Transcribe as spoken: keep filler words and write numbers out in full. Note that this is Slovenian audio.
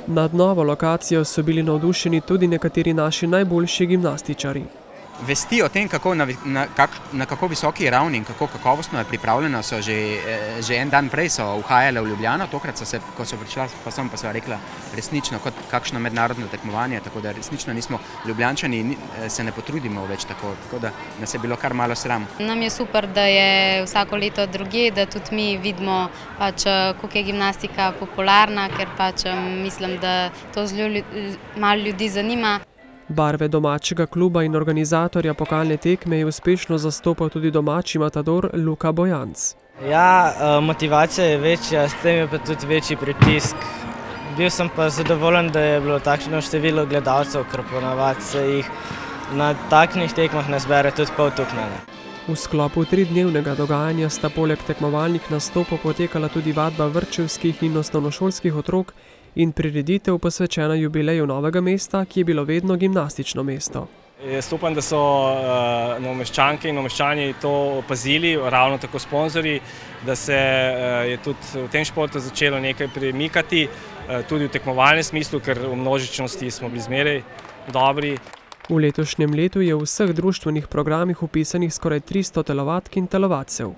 Nad novo lokacijo so bili navdušeni tudi nekateri naši najboljši gimnastičarji. Vesti o tem, kako na, na, kak, na kako visoki ravni in kako kakovostno je pripravljeno, so že, že en dan prej so uhajale v Ljubljano, tokrat so se, ko so prišla, pa sem pa so rekla resnično kot kakšno mednarodno tekmovanje, tako da resnično nismo Ljubljančani, se ne potrudimo več tako, tako da nas je bilo kar malo sram. Nam je super, da je vsako leto drugje, da tudi mi vidimo, pač, koliko je gimnastika popularna, ker pač mislim, da to zelo malo ljudi zanima. Barve domačega kluba in organizatorja pokalne tekme je uspešno zastopal tudi domači matador Luka Bojanc. Ja, motivacija je večja, s tem je pa tudi večji pritisk. Bil sem pa zadovoljen, da je bilo takšno število gledalcev, ker ponavadi se jih na takšnih tekmah ne zbere tudi pol tukaj. V sklopu tridnevnega dogajanja sta poleg tekmovalnih nastopov potekala tudi vadba vrtčevskih in osnovnošolskih otrok in prireditev posvečena jubileju Novega mesta, ki je bilo vedno gimnastično mesto. Jaz upam, da so Novomeščanke in Novomeščani to opazili, ravno tako sponzorji, da se je tudi v tem športu začelo nekaj premikati, tudi v tekmovalnem smislu, ker v množičnosti smo bili zmeraj dobri. V letošnjem letu je v vseh društvenih programih vpisanih skoraj tristo telovadk in telovadcev.